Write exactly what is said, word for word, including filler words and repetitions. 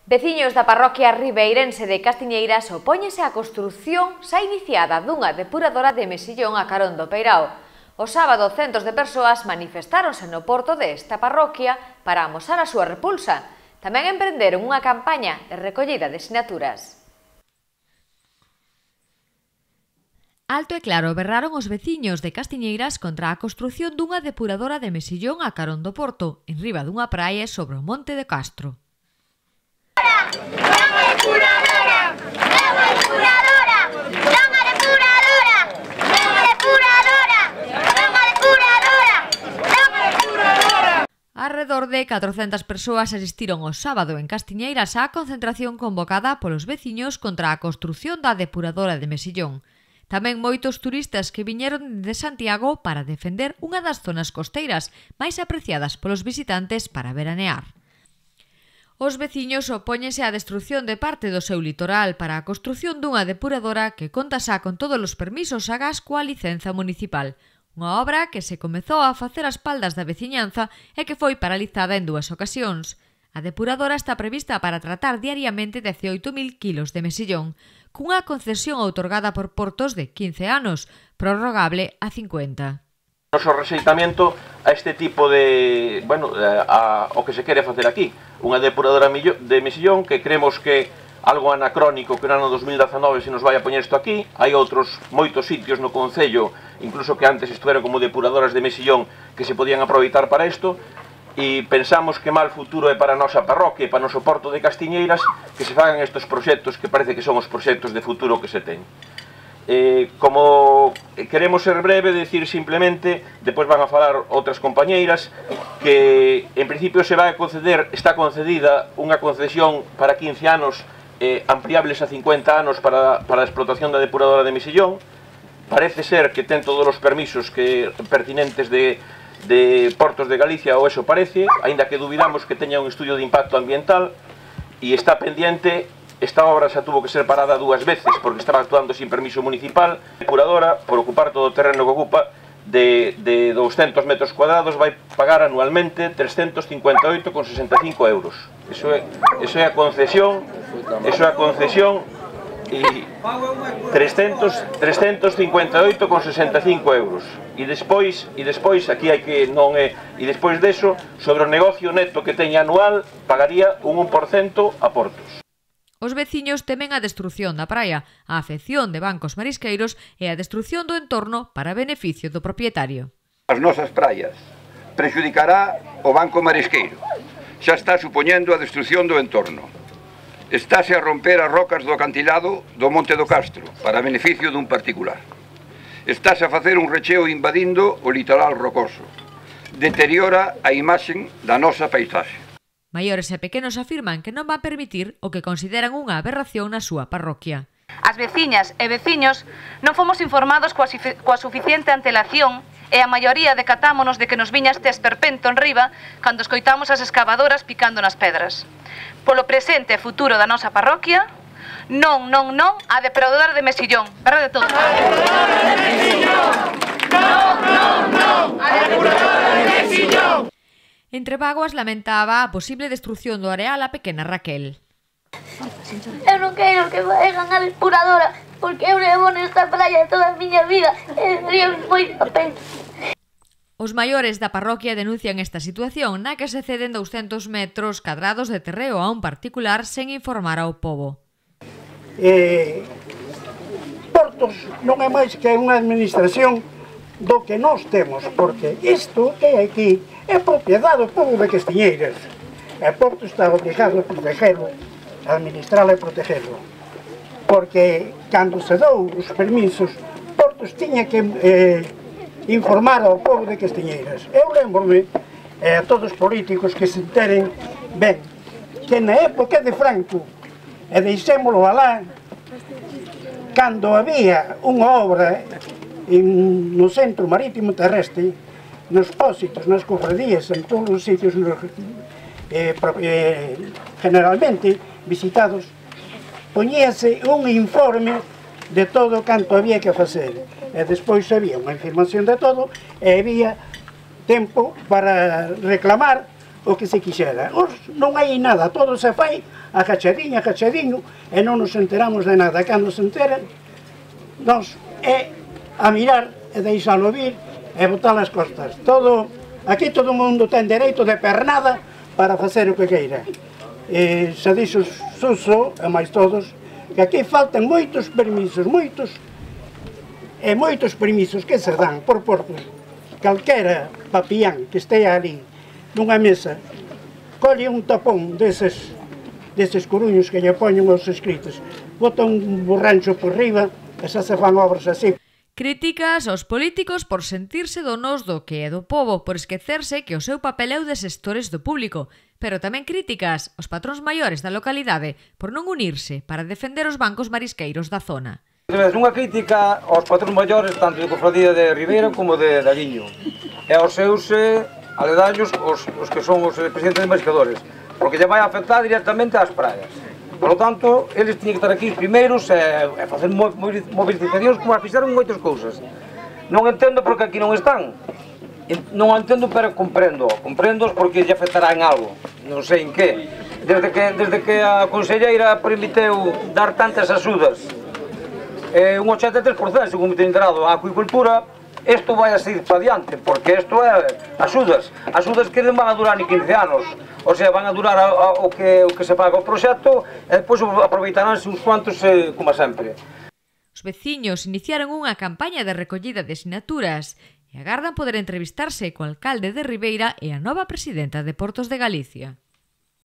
Veciños da parroquia ribeirense de Castiñeiras opóñense á construción xa iniciada dunha depuradora de Mesillón a carón do Peirao. O sábado, centos de persoas manifestáronse no porto desta parroquia para amosar a súa repulsa. Tamén emprenderon unha campaña de recollida de sinaturas. Alto e claro berraron os veciños de Castiñeiras contra a construción dunha depuradora de Mesillón a carón do porto, en riba dunha praia sobre o monte de Castro. ¡Non a depuradora! ¡Non a depuradora! ¡Non a depuradora! ¡Non a depuradora! ¡Non a depuradora! ¡Non a depuradora! Arredor de catrocentas persoas asistiron o sábado en Castiñeiras á concentración convocada polos veciños contra a construción da depuradora de Mesillón. Tamén moitos turistas que viñeron de Santiago para defender unha das zonas costeiras máis apreciadas polos visitantes para veranear. Os veciños opóñense á destrución de parte do seu litoral para a construción dunha depuradora que conta xa con todos os permisos agás coa licenza municipal, unha obra que se comezou a facer ás espaldas da veciñanza e que foi paralizada en dúas ocasións. A depuradora está prevista para tratar diariamente dezioito mil kilos de mesillón, cunha concesión outorgada por Portos de quince anos, prorrogable a cincuenta. Noso rexeitamento a este tipo de, bueno, a, a, o que se quere facer aquí, unha depuradora de Mesillón que creemos que algo anacrónico que no ano dos mil dezanove se nos vai a poñer isto aquí. Hai outros moitos sitios no concello, incluso que antes estuveron como depuradoras de Mesillón que se podían aproveitar para isto, e pensamos que mal futuro é para a nosa parroquia e para o noso porto de Castiñeiras que se fagan estes proxectos que parece que son os proxectos de futuro que se ten. Eh, como queremos ser breve, decir simplemente, despois van a falar outras compañeiras, que en principio se vai a conceder, está concedida unha concesión para quince anos, eh, ampliables a cincuenta anos para, para a explotación da depuradora de Mesillón. Parece ser que ten todos os permisos que pertinentes de, de Portos de Galicia, ou eso parece, aínda que dubidamos que teña un estudio de impacto ambiental, e está pendiente. Esta obra xa tuvo que ser parada dúas veces porque estaba actuando sin permiso municipal. A depuradora, por ocupar todo o terreno que ocupa, de, de douscentos metros cuadrados, vai pagar anualmente trescentos cincuenta e oito con sesenta e cinco euros. Eso é, eso é a concesión, eso é a concesión e trescentos cincuenta e oito con sesenta e cinco euros. E despois, e despois aquí hai que non é, e despois deso, sobre o negocio neto que teña anual, pagaría un un por cento a Portos. Os veciños temen a destrución da praia, a afección de bancos marisqueiros e a destrución do entorno para beneficio do propietario. As nosas praias prexudicará o banco marisqueiro. Xa está supoñendo a destrución do entorno. Estáse a romper as rocas do acantilado do Monte do Castro para beneficio dun particular. Estáse a facer un recheo invadindo o litoral rocoso. Deteriora a imaxen da nosa paisaxe. Maiores e pequenos afirman que non van permitir o que consideran unha aberración na súa parroquia. As veciñas e veciños non fomos informados coa, coa suficiente antelación e a maioría decatámonos de que nos viña este esperpento en riba cando escoitamos as excavadoras picando nas pedras. Polo presente e futuro da nosa parroquia, non, non, non a depuradora de Mesillón. Verdade de todo. A depuradora de Mesillón! Non, non, non a depuradora de Mesillón! Entre vaguas lamentaba a posible destrución do areal a pequena Raquel. Eu non quero que vayan a depuradora, porque eu levo nesta praia toda a miña vida e sería moita pena. Os maiores da parroquia denuncian esta situación na que se ceden douscentos metros cadrados de terreo a un particular sen informar ao pobo. Eh, Portos non é máis que unha administración do que nós temos, porque isto que é aquí é propiedade do povo de Castiñeiras. E Porto está obligado a protegerlo, a administralo e protegerlo. Porque cando se dou os permisos, Portos tiña que eh, informar ao povo de Castiñeiras. Eu lembro-me eh, a todos os políticos que se enteren ben que na época de Franco, e deixémolo alá, cando había unha obra en, no centro marítimo terrestre, nos pósitos, nas cofradías, en todos os sitios nos, eh, eh, generalmente visitados, poñíase un informe de todo canto había que facer. E despois había unha información de todo e había tempo para reclamar o que se quixera. Os, non hai nada, todo se fai agachadiño, agachadiño, e non nos enteramos de nada. Cando se enteren, nos é a mirar e deixalo vir e botar as costas. Todo, aquí todo o mundo ten dereito de pernada para facer o que queira. E se dixo Suso, e máis todos, que aquí faltan moitos permisos, moitos, e moitos permisos que se dan por portos. Calquera papián que estea ali nunha mesa, colle un tapón deses, deses coruños que lle poñen os escritos, bota un borrancho por riba e xa se fan obras así. Críticas aos políticos por sentirse donos do que é do pobo, por esquecerse que o seu papel é o de xestores do público, pero tamén críticas aos patróns maiores da localidade por non unirse para defender os bancos marisqueiros da zona. Unha crítica aos patróns maiores tanto de Cofradía de Ribeira como de Daliño e aos seus eh, aledaños os, os que son os presidentes de mariscadores, porque lle vai afectar directamente ás praias. Por lo tanto, eles tiñen que estar aquí os primeiros e, e facer movilizacións como as fixeron moitas cousas. Non entendo porque aquí non están. Non entendo, pero comprendo. Comprendo porque lle afectará en algo. Non sei en que. Desde que, desde que a conselleira permiteu dar tantas axudas, eh, un ochenta e tres por cento, según me teño enterado, a acuicultura, isto vai a seguir para diante, porque isto é axudas. Axudas que non van a durar ni quince anos. O sea, van a durar a, a, o, que, o que se paga o proxecto e depois aproveitaránse uns cuantos eh, como sempre. Os veciños iniciaron unha campaña de recollida de sinaturas e agardan poder entrevistarse co alcalde de Ribeira e a nova presidenta de Portos de Galicia.